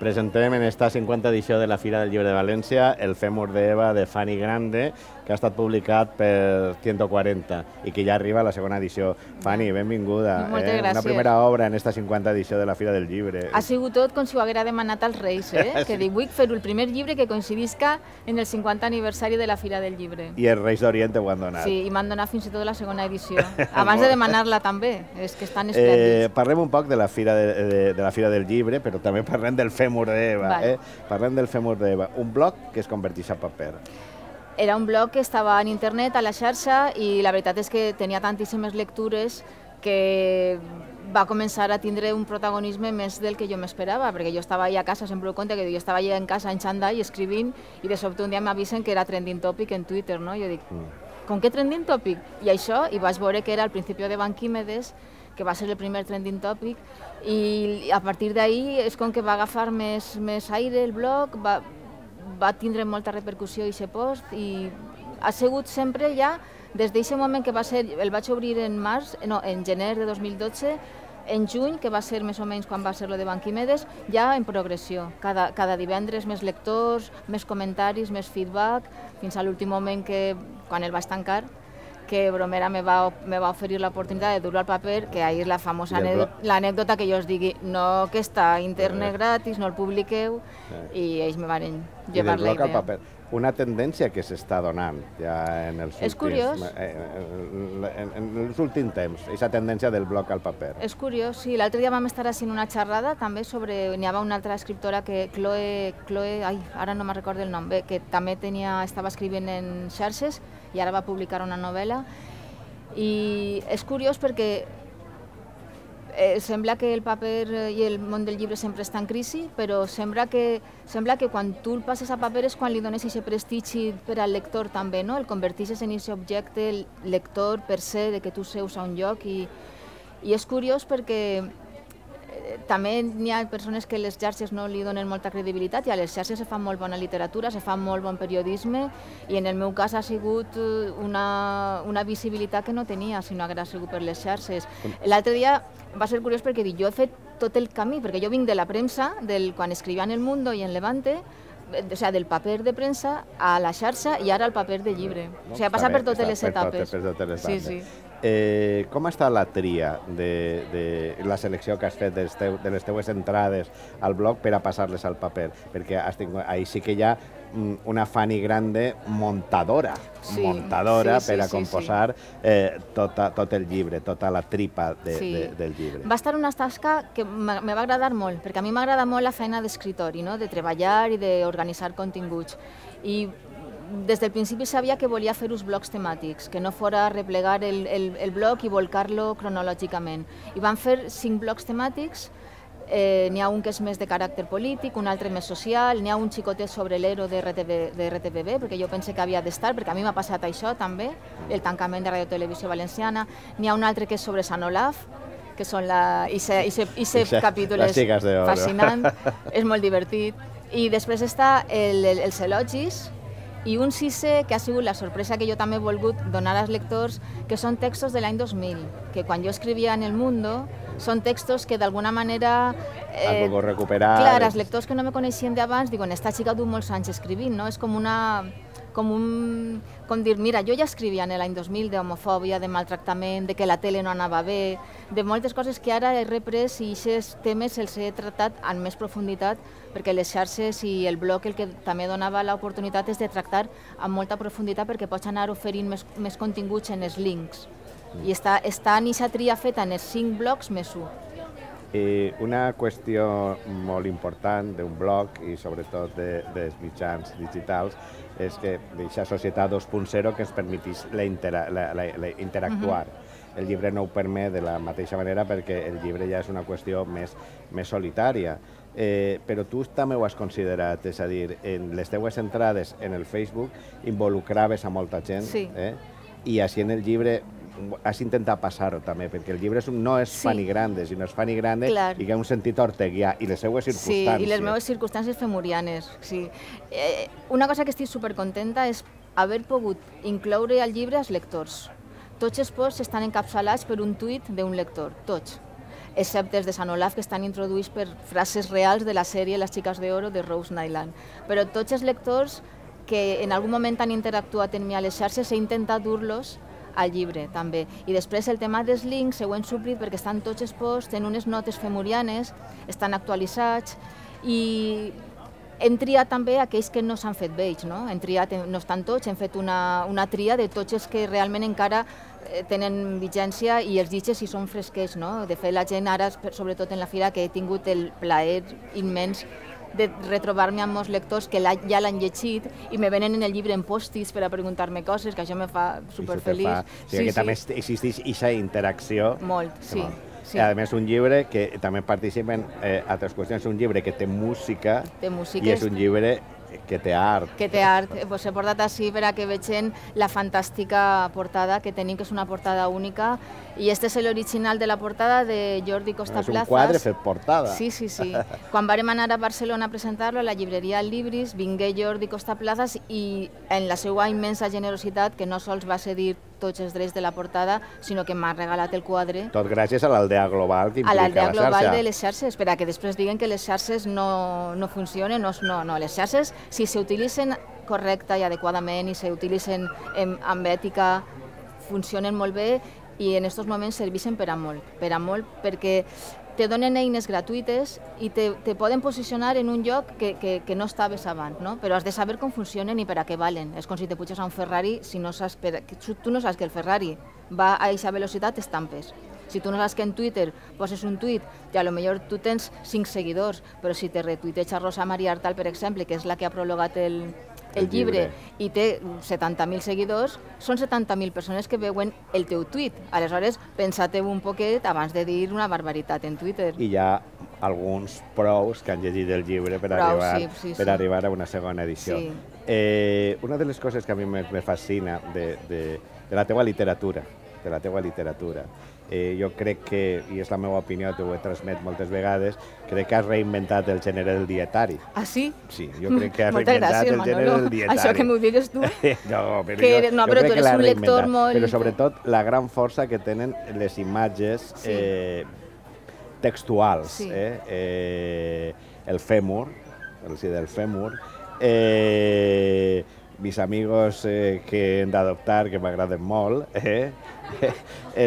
Presentem en esta 50 edició de la Fira del Llibre de València el Fèmur d'Eva de Fanny Grande, que ha estat publicat per 140 i que ja arriba a la segona edició. Fanny, benvinguda. Moltes gràcies. Una primera obra en esta 50 edició de la Fira del Llibre. Ha sigut tot com si ho haguera demanat als Reis, que dic, vull fer el primer llibre que coincidisca en el 50 aniversari de la Fira del Llibre. I els Reis d'Orient ho han donat. Sí, i m'han donat fins i tot la segona edició. Abans de demanar-la també, és que estan esplèndids. Parlem un poc de la Fira del Llibre, però també parlem del Fèmur d'Eva. Parlem del Fèmur d'Eva, un blog que es converteix a paper. Era un blog que estava en internet, a la xarxa, i la veritat és que tenia tantíssimes lectures que va començar a tindre un protagonisme més del que jo m'esperava, perquè jo estava allà a casa, sempre ho conto, que jo estava allà en casa en xandall escrivint i de sobte un dia m'avisen que era trending topic en Twitter, no? Jo dic, com que trending topic? I això, i vaig veure que era al principi de Banquímedes, que va ser el primer trending topic, i a partir d'ahir és com que va agafar més aire el blog, va tindre molta repercussió aquest post i ha sigut sempre ja, des d'aquest moment que va ser, el vaig obrir en gener de 2012, en juny, que va ser més o menys quan va ser lo de Banquímedes, ja en progressió. Cada divendres més lectors, més comentaris, més feedback, fins a l'últim moment que, quan el vaig tancar, que Bromera me va oferir l'oportunitat de dur-ho al paper, que ahir és la famosa l'anècdota que jo us digui, no, que està internet gratis, no el publiqueu, i ells me van llevar la idea. Una tendència que s'està donant ja en els últims temps, aquesta tendència del blog al paper. És curiós, sí. L'altre dia vam estar fent una xerrada també sobre... N'hi havia una altra escriptora, Chloe, ara no me'n recordo el nom, que també estava escrivint en xarxes i ara va publicar una novel·la. I és curiós perquè sembla que el paper i el món del llibre sempre està en crisi, però sembla que quan tu el passes a paper és quan li dones aquest prestigi per al lector també, no? El converteixes en aquest objecte, el lector per se, de que tu seus a un lloc, i és curiós perquè també n'hi ha persones que les xarxes no li donen molta credibilitat i a les xarxes se fa molt bona literatura, se fa molt bon periodisme i en el meu cas ha sigut una visibilitat que no tenia si no hagués sigut per les xarxes. L'altre dia va ser curiós perquè jo he fet tot el camí, perquè jo vinc de la premsa, quan escrivia en El Mundo i en Levante, o sigui, del paper de premsa a la xarxa i ara al paper de llibre. O sigui, ha passat per totes les etapes. Sí, sí. Com està la tria de la selecció que has fet de les teues entrades al blog per a passar-les al paper? Perquè ahí sí que hi ha una Fanny Grande montadora per a composar tot el llibre, tota la tripa del llibre. Va estar una tasca que me va agradar molt, perquè a mi m'agrada molt la feina d'escriptori, de treballar i d'organitzar continguts. I des del principi sabia que volia fer uns blocs temàtics, que no fora replegar el blog i volcar-lo cronològicament. I van fer 5 blocs temàtics. N'hi ha un que és més de caràcter polític, un altre més social, n'hi ha un xicotet sobre l'Ero de RTBB, perquè jo pensé que havia d'estar, perquè a mi m'ha passat això també, el tancament de Radio Televisió Valenciana. N'hi ha un altre que és sobre Sant Olaf, que són aquest capítol fascinant, és molt divertit. I després està els elogis, i un sisè, que ha sigut la sorpresa que jo també he volgut donar als lectors, que són textos de l'any 2000, que quan jo escrivia en El Mundo, són textos que d'alguna manera... Has volgut recuperar... Clar, els lectors que no me coneixien d'abans diuen, esta xica du molts anys escrivint, no? És com dir, mira, jo ja escrivia en l'any 2000 d'homofòbia, de maltractament, de que la tele no anava bé, de moltes coses que ara he reprès i aquests temes els he tractat amb més profunditat, perquè les xarxes i el blog el que també donava l'oportunitat és de tractar amb molta profunditat perquè pots anar oferint més continguts en els links. I està en aquesta tria feta en els 5 blocs més 1. Una qüestió molt important d'un blog i sobretot dels mitjans digitals és que aquesta societat 2.0 que ens permetís interactuar. El llibre no ho permet de la mateixa manera perquè el llibre ja és una qüestió més solitària. Però tu també ho has considerat, és a dir, en les teues entrades en el Facebook involucraves a molta gent i així en el llibre has intentat passar-ho també, perquè el llibre no és Fanny Grande, sinó és Fanny Grande i que ha un sentit orteguià, i les seues circumstàncies. Sí, i les meves circumstàncies femurianes. Una cosa que estic supercontenta és haver pogut incloure al llibre als lectors. Tots els posts estan encapçalats per un tuit d'un lector, tots. excepte els de Sant Olaf, que estan introduïts per frases reals de la sèrie Les xiques d'oro de Rose Nyland. Però tots els lectors que en algun moment han interactuat amb mi a les xarxes he intentat dur-los al llibre, també. I després el tema dels links ho hem suplit perquè estan tots exposts en unes notes femurianes, estan actualitzats i hem triat també aquells que no s'han fet vells, no? Hem triat, no estan tots, hem fet una tria de tots els que realment encara tenen vigència i els llitges si són fresquets, no? De fet, la gent ara, sobretot en la fira, que he tingut el plaer immens de retrobar-me amb molts lectors que ja l'han llegit i me venen en el llibre en post-its per a preguntar-me coses, que això me fa superfeliç. O sigui que també existeix aquesta interacció. Molt, sí. I a més un llibre que també participen altres qüestions, és un llibre que té música i és un llibre que té art. Que té art. Pues he portat així per a que vegin la fantàstica portada que tenim, que és una portada única. I este és l'original de la portada de Jordi Costaplazas. És un quadre fet portada. Sí. Quan vàrem anar a Barcelona a presentar-lo a la llibreria Libris, vingué Jordi Costaplazas i en la seva immensa generositat, que no sols va cedir tots els drets de la portada, sinó que m'ha regalat el quadre. Tot gràcies a l'aldea global que implica la xarxa. A l'aldea global de les xarxes, per a que després diguen que les xarxes no funcionen. No, les xarxes, si s'utilitzen correcta i adequadament i s'utilitzen amb ètica, funcionen molt bé i en aquests moments serveixen per a molt, perquè te donen eines gratuïtes i te poden posicionar en un lloc que no estaves abans, no? Però has de saber com funcionen i per a què valen. És com si te puges a un Ferrari, si no saps tu no saps que el Ferrari va a aquesta velocitat, estampes. Si tu no saps que en Twitter poses un tuit i a lo millor tu tens 5 seguidors, però si te retuiteja Rosa Maria Artal, per exemple, que és la que ha prologat el llibre i té 70.000 seguidors, són 70.000 persones que veuen el teu tuit. Aleshores, pensa-te un poquet abans de dir una barbaritat en Twitter. I hi ha alguns prous que han llegit el llibre per arribar a una segona edició. Una de les coses que a mi me fascina de la teva literatura, jo crec que, i és la meva opinió, t'ho he transmet moltes vegades, crec que has reinventat el gènere del dietari. Ah, sí? Sí, jo crec que has reinventat el gènere del dietari. Això que m'ho digues tu. No, però tu eres un lector molt... Però sobretot la gran força que tenen les imatges textuals. El fèmur, el si del fèmur, mis amigos que hem d'adoptar, que m'agraden molt,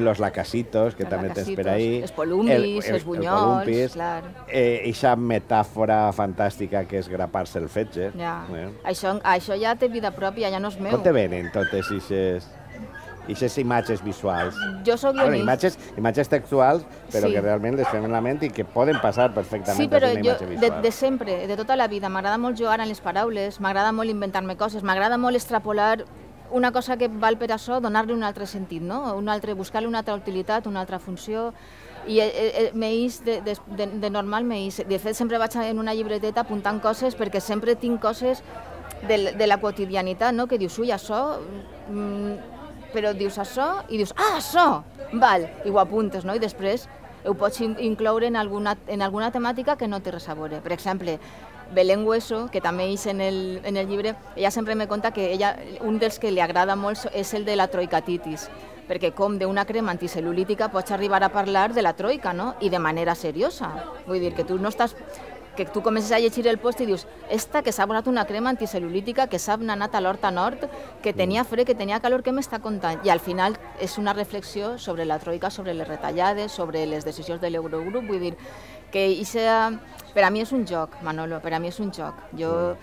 los lacasitos, que també tens per ahí, els polumpis, els bunyols, clar. Eixa metàfora fantàstica que és grapar-se el fetge. Això ja té vida pròpia, ja no és meu. Com te venen totes aquestes imatges visuals? Jo soc guionista. Imatges textuals, però que realment les fem en la ment i que poden passar perfectament per una imatge visual. Sí, però jo, de sempre, de tota la vida, m'agrada molt jugar amb les paraules, m'agrada molt inventar-me coses, m'agrada molt extrapolar una cosa que val per això, donar-li un altre sentit, no? Buscar-li una altra utilitat, una altra funció. I de normal m'eix. De fet, sempre vaig en una llibreteta apuntant coses perquè sempre tinc coses de la quotidianitat, no? Que dius, ui, això... Però dius això i dius, això! Val, i ho apuntes, no? I després ho pots incloure en alguna temàtica que no té res a veure. Per exemple, Belén Hueso, que també és en el llibre, ella sempre me conta que un dels que li agrada molt és el de la troicatitis, perquè com d'una crema anticel·lulítica pots arribar a parlar de la troica, no? I de manera seriosa. Vull dir, que tu comences a llegir el post i dius esta que s'ha posat una crema anticel·lulítica, que s'ha anat a l'Horta Nord, que tenia fred, que tenia calor, què m'està contant? I al final és una reflexió sobre la troica, sobre les retallades, sobre les decisions de l'Eurogrup. Vull dir que per a mi és un joc, Manolo, per a mi és un joc. Jo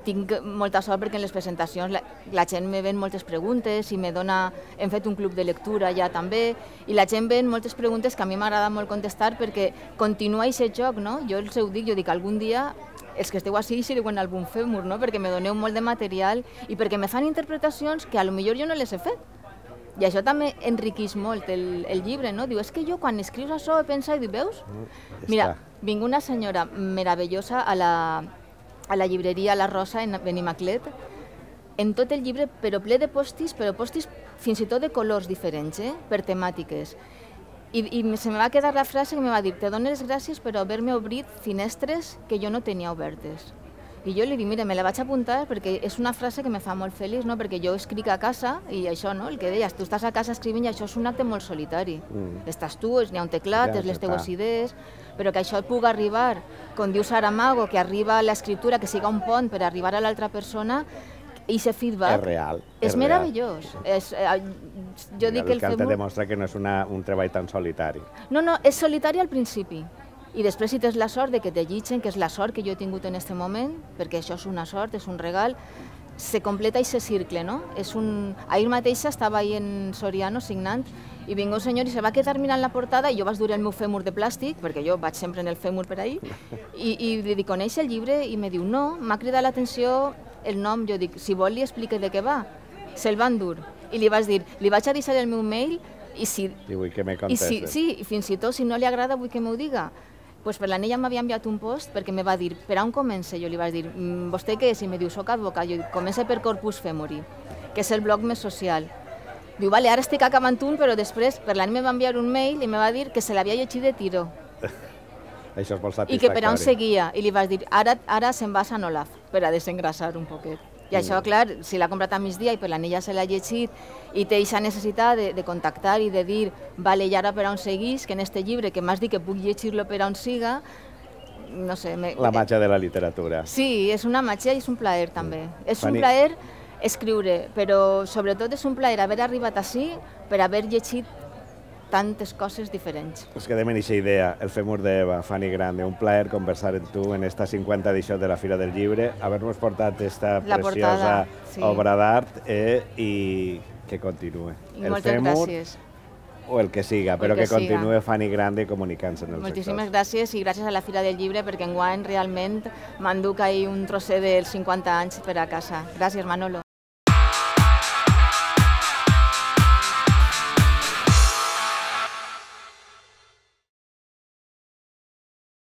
tinc molta sort perquè en les presentacions la gent me ven moltes preguntes i hem fet un club de lectura ja també, i la gent ven moltes preguntes que a mi m'agrada molt contestar perquè continua aquest joc, no? Jo els ho dic, algun dia els que esteu així sigueu en algun fèmur, no? Perquè me doneu molt de material i perquè me fan interpretacions que a lo millor jo no les he fet. I això també enriqueix molt el llibre, no? Diu, és que jo quan escrius això he pensat i dic, veus? Mira, vinc una senyora meravellosa a la llibreria La Rosa en Benimaclet, en tot el llibre, però ple de postis, però postis fins i tot de colors diferents, per temàtiques. I se me va quedar la frase que me va dir, te dono les gràcies per haver-me obrit finestres que jo no tenia obertes. I jo li dic, mira, me la vaig apuntar perquè és una frase que me fa molt feliç, no? Perquè jo escric a casa i això, no? El que deies, tu estàs a casa escrivint i això és un acte molt solitari. Estàs tu, n'hi ha un teclat, Ja, les ja teues està. idees, però que això pugui arribar, com diu Saramago, que arriba a l'escriptura, que siga un pont per arribar a l'altra persona, i aquest feedback És real. és meravellós. Jo dic que el te Femur... demostra que no és un treball tan solitari. No, és solitari al principi. I després, si tens la sort de que te llitgen, que és la sort que jo he tingut en aquest moment, perquè això és una sort, és un regal, se completa aquest cicle, no? Ahir mateixa estava ahí en Soriano signant i vinga un senyor i se va quedar mirant la portada i jo vaig dur el meu fèmur de plàstic, perquè jo vaig sempre en el fèmur per ahí, i li dic, coneix el llibre? I me diu, no, m'ha cridat l'atenció el nom. Jo dic, si vol li explique de què va. Se'l van dur. I li vaig dir, li vaig a deixar el meu mail i si... I vull que me contestes. Sí, i fins i tot si no li agrada vull que m'ho diga. Pues per l'Anella m'havia enviat un post perquè me va dir, per on comença? Jo li vaig dir, vostè què és? I me diu, soc advocat. Jo dic, comença per Corpus Femori, que és el blog més social. Diu, vale, ara estic acabant un, però després per l'Anella me va enviar un mail i me va dir que se l'havia llegit de tiro. Això és molt satisfactori. I que per on seguia. I li vaig dir, ara se'n va a Sant Olaf, per a desengrasar un poquet. I això, clar, si l'ha comprat a migdia i per l'Anella se l'ha llegit i té aquesta necessitat de contactar i de dir, vale, i ara per on seguís, que en este llibre que m'has dit que puc llegir-lo per on siga, no sé... La màgia de la literatura. Sí, és una màgia i és un plaer també. És un plaer escriure, però sobretot és un plaer haver arribat ací per haver llegit tantes coses diferents. Ens quedem en aquesta idea, el Fèmur d'Eva, Fanny Grande, un plaer conversar amb tu en esta 50 edició de la Fira del Llibre, haver-nos portat esta preciosa obra d'art i que continue. El Fèmur o el que siga, però que continue Fanny Grande comunicant-se en el sector. Moltíssimes gràcies i gràcies a la Fira del Llibre perquè enguany realment m'enduc ahir un trosset dels 50 anys per a casa. Gràcies, Manolo.